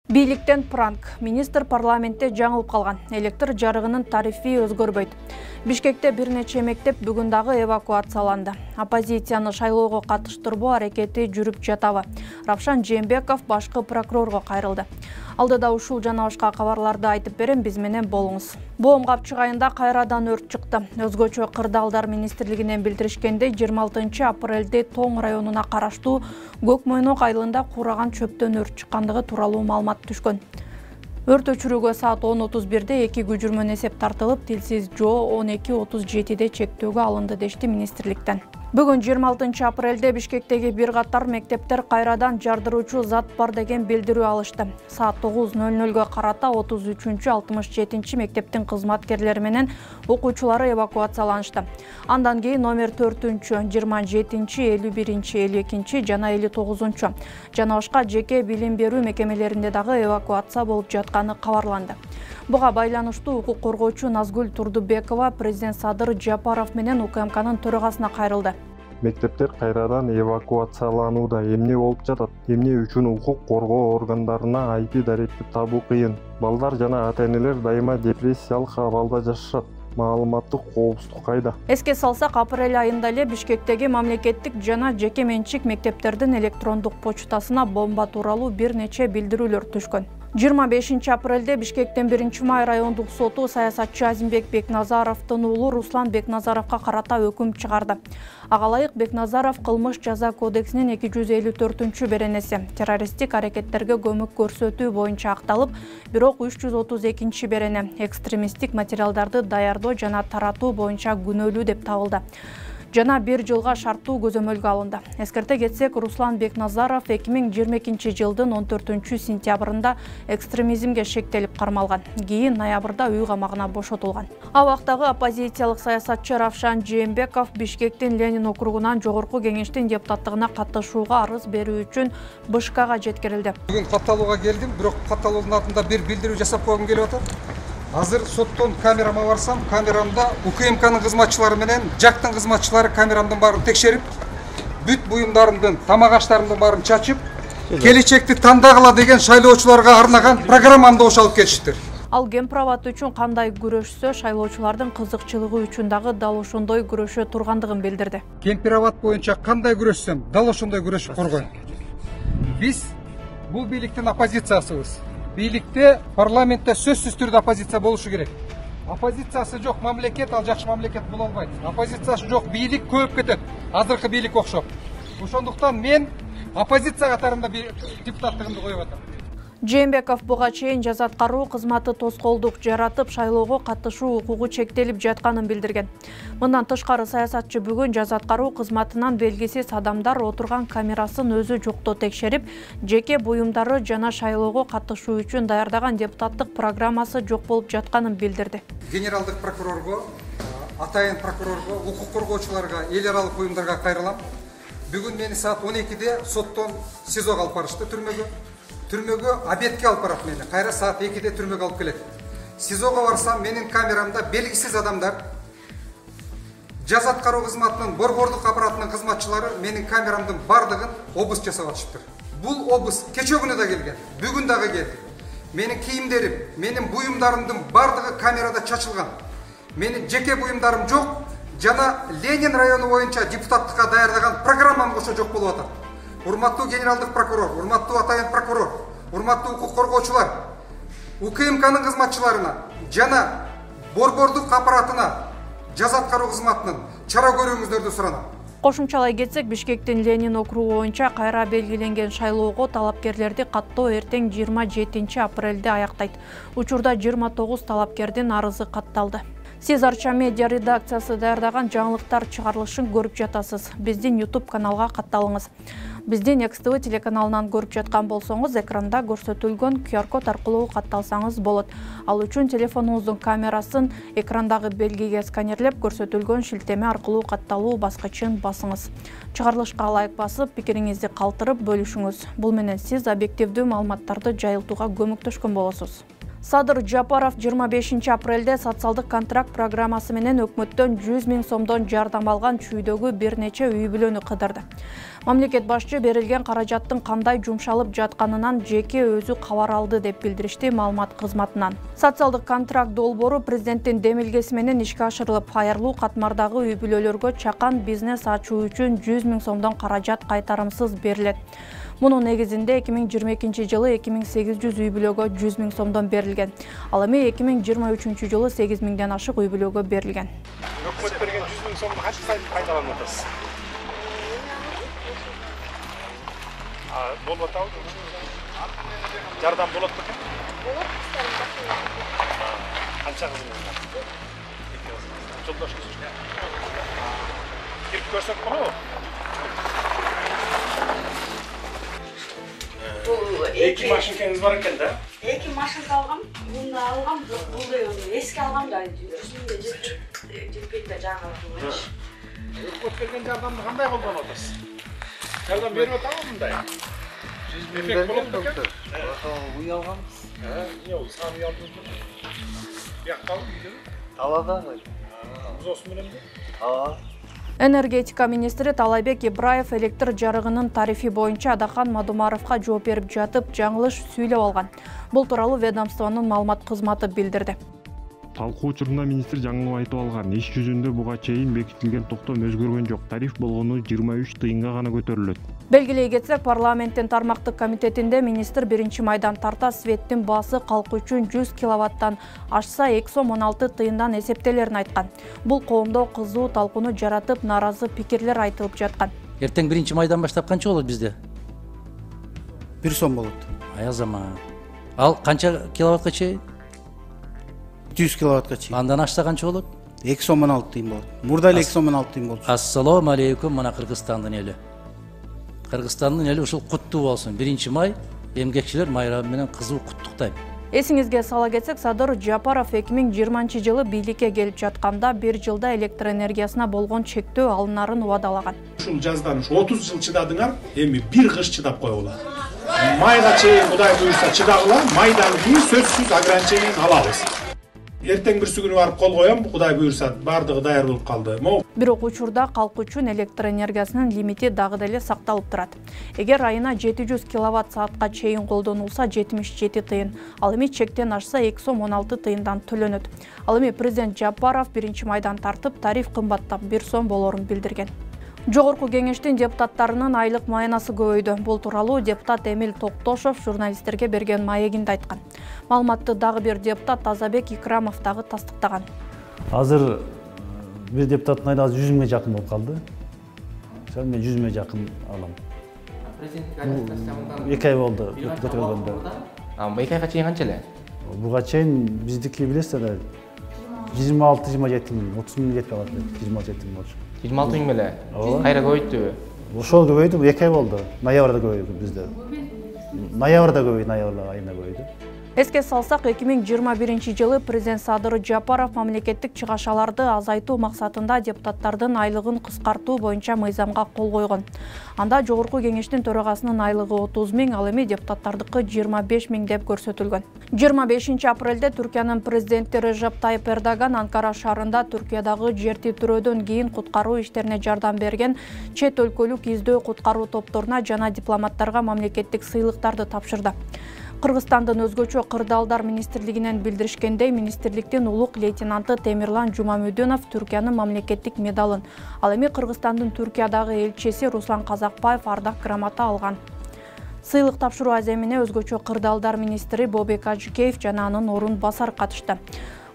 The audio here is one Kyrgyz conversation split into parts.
Бийликтен пранк. Министр парламентте жаңылып калган. Электр жарыгынын тарифи өзгөрбөйт. Бишкекте бир нече мектеп бүгүн дагы эвакуацияланды. Оппозицияны шайлоого катыштырбоо аракети жүрүп жатабы? Равшан Жээнбеков башкы прокурорго кайрылды. Алдыда ушул жана башка кабарларды айтып берем, биз менен болуңуз. Боом капчыгайында кайрадан өрт чыкты. Өзгөчө кырдаалдар министрлигинен билдиришкендей, 26 апрелде Тоң районуна караштуу Көкмойнок айылында кураган чөптөн өрт чыккандыгы тууралуу маалымат түшкөн. Өрт өчүрүүгө саат 10:31 2 күжүрмөн эсеп тартылып, тилсиз жоо 12:37 чектөөгө алынды дешти министрликтен. Бүгүн 26 апрелде Бишкектеги бир катар мектептер кайрадан жардыруучу зат бар деген билдирүү алышты. Саат 9:00 карата 33-67 мектептин кызматкерлери менен окуучулары эвакуацияланышты. Андан кийин номер 4, 27, 51, 52 жана 59 жана башка жеке билим берүү мекемелеринде дагы эвакуация болуп жатканы кабарланды. Буга байланыштуу укук коргоочу Назгүл Турдубекова президент Садыр Жапаров менен УКМКнын төрагасына кайрылды. Мектептер кайрадан эвакуацияланууда. Эмне болуп жатат? Эмне үчүн укук коргоо органдарына IP даректи табуу кыйын? Балдар жана ата-энелер дайыма депрессиялык абалда жашашат. Маалыматтык коопсуздук кайда? Эске салсак, апрель айында эле Бишкектеги мамлекеттик жана жеке менчик мектептердин электрондук почтасына бомба тууралуу бир нече билдирүүлөр түшкөн. 25 апрелде Бишкектен 1 май райондук соту саясатчы Азимбек Бекназаровдун уулу Руслан Бекназаровго карата өкүм чыгарды. Ага ылайык Бекназаров кылмыш жаза кодексинин 254-беренеси террористтик аракеттерге көмөк көрсөтүү боюнча акталып, бирок 332 берене экстремисттик материалдарды даярдоо жана таратуу боюнча күнөөлүү деп табылды. Жана 1 жылга шарттуу көзөмөлгө алынды. Эскерте кетсек, Руслан Бекназаров 2022 жылдын 14 сентябрында экстремизмге шектелип кармалган. Кийин ноябрда үй камагына бошотулган. Абактагы оппозициялык саясатчы Равшан Жээнбеков Бишкектин Ленин округунан жогорку кеңештин депутаттыгына катышууга арыз берүү үчүн БШКга жеткирилди. Бүгүн катталууга келдим, бирок катталуунун алдында бир билдирүү жасап койгум келип атат. Азыр соттон камерама барсам, камерамда УКМКнын кызматчылары менен жактын кызматчылары камерамдын баарын текшерип, бүт буюмдарымдын, тамак аштарымдын баарын чачып, келечекти тандагыла деген шайлоочуларга арнаган программамды ошолуп кетиштир. Ал кемпирабад үчүн кандай күрөшсө, шайлоочулардын кызыкчылыгы үчүн дагы дал ошондой күрөшө тургандыгын билдирди. Кемпирабад боюнча кандай күрөшсөм, дал ошондой күрөшүп коргойм. Биз бул бийликтин оппозициясыбыз. Бийликте, парламентте сөзсүз түрдө оппозиция болушу керек. Оппозициясы жок мамлекет, ал жакшы мамлекет боло албайт. Оппозициясы жок бийлик көбөйүп кетет. Азыркы бийлик окшоп. Ошондуктан мен оппозиция катарында депутаттыгымды коюп атам. Жээнбеков буга чейин жаза аткаруу кызматы тоскоолдук жаратып, шайлоого катышуу укугу чектелип жатканын билдирген. Мындан тышкары саясатчы бүгүн жаза аткаруу кызматынан белгисиз адамдар отурган камерасын өзү жоктоо текшерип, жеке буюмдары жана шайлоого катышуу үчүн даярдаган депутаттык программасы жок болуп жатканын билдирди. Генералдык прокурорго, атайын прокурорго, укук коргоочуларга, эл аралык уюмдарга кайрылам. Бүгүн мени саат 12-де соттон СИЗОго алып барышты, түрмөгө обедке алып барат мени. Кайра саат 2-де түрмөгө алып келет. СИЗОго барсам, менин камерамда белгисиз адамдар, жаза аткаруу кызматынын борбордук аппаратынын кызматчылары менин камерамдын бардыгын обыск жасап атышыптыр. Бул обыск кече күнү да келген, бүгүн дагы келди. Менин кийимдерим, менин буюмдарымдын бардыгы камерада чачылган. Менин жеке буюмдарым жок, жана Ленин району боюнча депутаттыкка даярдаган программам ошо жок болуп атат. Урматтуу генералдык прокурор, урматтуу атайын прокурор, урматтуу укук коргоочулар, УКМКнын кызматчыларына жана борбордук аппаратына, жаза аткаруу кызматынын чара көрүүңүздөрдү суранам. Кошумчалай кетсек, Бишкектин Ленин округу боюнча кайра белгиленген шайлоого талапкерлерди каттоо эртең 27 апрелде аяктайт. Учурда 29 талапкердин арызы катталды. Сиз Арча медиа редакциясы даярдаган жаңылыктар чыгарылышын көрүп жатасыз. Биздин YouTube каналга катталыңыз. Биздин XTV телеканалынан көрүп жаткан болсоңуз, экранда көрсөтүлгөн QR-код аркылуу катталсаңыз болот. Ал үчүн телефонуңуздун камерасын экрандагы белгиге сканерлеп, көрсөтүлгөн шилтеме аркылуу катталуу баскычын басыңыз. Чыгарылышка лайк басып, пикириңизди калтырып бөлүшүңүз. Бул менен сиз объективдүү маалыматтарды жайылтууга көмөктөшкөн болосуз. Садыр Жапаров 25 апрелде социалдык контракт программасы менен өкмөттөн 100 000 сомдон жардам алган чүйдөгү бир нече үй бүлөнү кыдырды. Мамлекет башчы берилген каражаттын кандай жумшалып жатканынан жеке өзү кабар алды деп билдиришти маалымат кызматынан. Социалдык контракт долбоору президенттин демилгеси менен ишке ашырылып, аярлуу катмардагы үй бүлөлөргө чакан бизнес ачуу үчүн 100 000 сомдон каражат кайтарымсыз берилет. Мунун негизинде 2022 жылы 2800 үй бүлөгө 100 000 сомдон берилген. Ал эми 2023 жылы 8 000ден ашык үй бүлөгө берилген. Өкмөт берген 100 000 сомду канча сайын кайталанып атасыз? Болот атабы? Жардам болот бекен? Болот, канча кызыңыз бар? Жолдошуңуз. Кирип көрсөк болобу? Эки машинкаңыз бар экен да? Эки машинка алгам, муну алгам, бул эски алгам да 100 000 жетпейт да жаңы. Өкмөт берген жардамды кандай колдонуп атасыз? Жардам берип атабы мындай? 100 000 берген доктор. Уй алганбыз. Эмне саам үй алдыңызбы? Бияктабы үйдөгү? Талада. Узосу мененби? Энергетика министри Талайбек Ибраев электр жарыгынын тарифи боюнча Адахан Мадумаровго жооп берип жатып, жаңылыш сүйлөп алган. Бул тууралуу ведомствонун маалымат кызматы билдирди. Талкуу учурунда министр жаңылык айтып алган. Иш жүзүндө буга чейин бекитилген токтом өзгөргөн жок. Тариф болгону 23 тыйынга гана көтөрүлөт. Белгилей кетсек, парламенттин тармактык комитетинде министр 1-майдан тарта светтин баасы калк үчүн 100 киловаттан ашса 216 тыйындан эсептелерин айткан. Бул коомдо кызуу талкууну жаратып, нааразы пикирлер айтылып жаткан. Эртең 1-майдан баштап канча болот бизде? 1 сом болот. Аязама. Ал канча киловаттка чейин? 100 киловаттка чейин. Андан ашса канча болот? 2 сомдон 6 тыйын болот. Мурда эле 2 сомдон 6 тыйын болчу. Ассалому алейкум, мына Кыргызстандын эли. Кыргызстандын эли ушул куттуу болсун. 1-май эмгекчилер майрамы менен кызуу куттуктайм. Эсиңизге сала кетсек, Садыр Жапаров 2020 жылы бийликке келип жатканда 1 жылда электр энергиясына болгон чектөө алынарын убадалаган. Ушул жаздан 30 жыл чыдадыңар, эми бир кыш чыдап коелу. Майга чейин Кудай буйрса чыдагыла, майдан кийин сөзсүз ограничениени алабыз. Эртең бирси күнү барып кол коем, Кудай буйрса бардыгы даяр болуп калды. Бирок учурда калк үчүн электр энергиясынын лимити дагы деле сакталып турат. Эгер айына 700 киловатт саатка чейин колдонулса 77 тыйын, ал эми чектен ашса 216 тыйындан төлөнөт. Ал эми президент Жапаров 1-майдан тартып тариф кымбаттап 1 сом болорун билдирген. Жогорку кеңештин депутаттарынын айлык маянасы көбөйдү. Бул тууралуу депутат Эмил Токтошов журналисттерге берген маегинде айткан. Маалыматты дагы бир депутат Тазабек Икрамов дагы тастыктаган. Азыр бир депутаттын айлыгы 100 000 жакын болуп калды. Мен 100 000 жакын алам. Президенттик администрациянын 2 ай болду көтөрүлгөндө. 2 айга чейин канча эле? Буга чейин биздики билесиз да 26-27 000, 30 000 жетпей калат. 26-27 000 болчу. 26 000 эле. Кайра көбөйттүбү? Ошол көбөйдү, 2 ай болду. Ноябрда көбөйдү бизде. Ноябрда көбөйдү, ноябрь айында көбөйдү. Эске салсак, 2021 жылы президент Садыр Жапаров мамлекеттик чыгашаларды азайтуу максатында депутаттардын айлыгын кыскартуу боюнча мыйзамга кол койгон. Анда жогорку кеңештин төрагасынын айлыгы 30 000, ал эми депутаттардыкы 25 000 деп көрсөтүлгөн. 25 апрелде Түркиянын президенти Режеп Тайып Эрдоган Анкара шаарында Түркиядагы жер титирөөдөн кийин куткаруу иштерине жардам берген чет өлкөлүк издөө куткаруу топторуна жана дипломаттарга мамлекеттик сыйлыктарды тапшырды. Кыргызстандын өзгөчө кырдаалдар министрлигинен билдиришкендей, министрликтин улук лейтенанты Темирлан Жумамүдүнов Түркиянын мамлекеттик медалын, ал эми Кыргызстандын Түркиядагы элчиси Руслан Казакбаев ардак грамота алган. Сыйлык тапшыруу аземине өзгөчө кырдаалдар министри Бобек Ажыкеев жана анын орун басары катышты.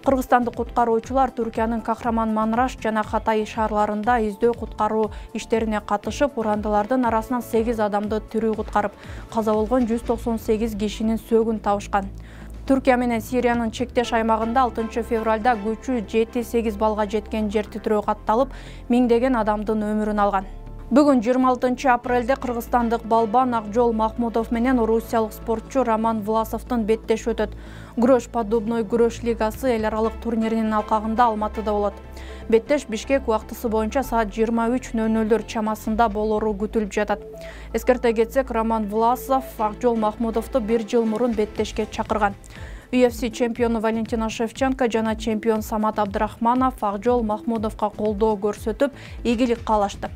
Кыргызстандык куткаруучулар Түркиянын Кахраман-Манраш жана Хатай шаарларында издөө куткаруу иштерине катышып, урандылардын арасынан 8 адамды тирүү куткарып, каза болгон 198 кишинин сөөгүн табышкан. Түркия менен Сириянын чектеш аймагында 6 февралда күчү 7-8 балга жеткен жер титирөө катталып, миңдеген адамдын өмүрүн алган. Бүгүн 26 апрелде кыргызстандык балбан Акжол Махмудов менен орусиялык спортчу Роман Власовдун беттеш өтөт. Күрөш поддубной күрөш лигасы эл аралык турниринин алкагында Алматыда болот. Беттеш Бишкек убактысы боюнча саат 23:00 чамасында болору күтүлүп жатат. Эскерте кетсек, Роман Власов Акжол Махмудовду 1 жыл мурун беттешке чакырган. UFC чемпиону Валентина Шевченко жана чемпион Самат Абдрахманов Акжол Махмудовго колдоо көрсөтүп, ийгилик каалашты.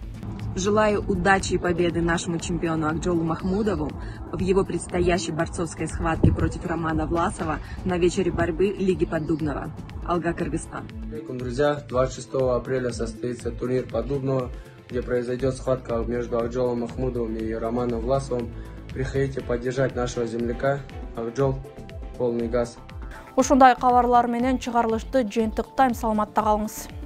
Желаю удачи и победы нашему чемпиону Акжолу Махмудову в его предстоящей борцовской схватке против Романа Власова на вечере борьбы Лиги Поддубного. Алга, Кыргызстан. Друзья, 26 апреля состоится турнир Поддубного, где произойдет схватка между Акжолом Махмудовым и Романом Власовым. Приходите поддержать нашего земляка. Акжол, полный газ. Ушундай кабарлар менен чыгарылышты жыйынтыктайм, саламатта калыңыз.